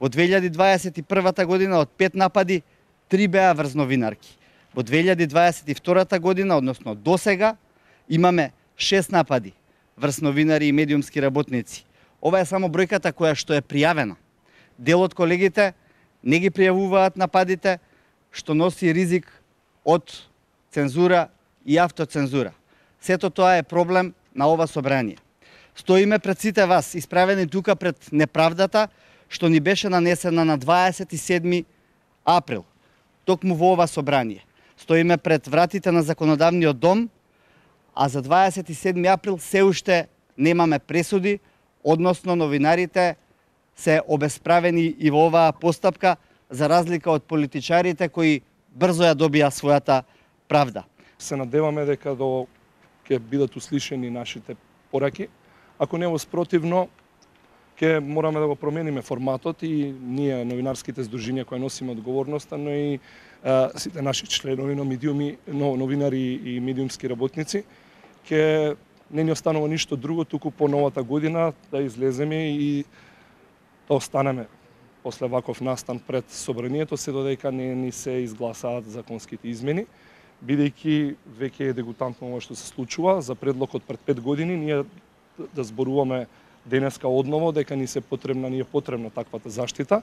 Во 2021 година од 5 напади, 3 беа врз новинарки. Во 2022 година, односно до сега, имаме 6 напади врз новинари и медиумски работници. Ова е само бројката која што е пријавена. Дел од колегите не ги пријавуваат нападите, што носи ризик од цензура и автоцензура. Сето тоа е проблем на ова собрание. Стоиме пред сите вас, исправени тука пред неправдата, што ни беше нанесена на 27 април, токму во ова собрание. Стоиме пред вратите на законодавниот дом, а за 27 април се уште немаме пресуди, односно новинарите се обесправени и во оваа постапка, за разлика од политичарите кои брзо ја добија својата правда. Се надеваме дека ќе бидат услишени нашите пораки. Ако не воспротивно, ќе мораме да го промениме форматот и ние, новинарските здружинија кои носиме одговорноста, но и сите наши членови на новинари и медиумски работници, ќе не ни останува ништо друго, туку по новата година да излеземе и да останеме после ваков настан пред собранието, се додека не ни се изгласаат законските измени, бидејќи веќе е дегутантно ова што се случува. За предлогот пред 5 години ние да зборуваме денеска одново дека ни е потребна таквата заштита.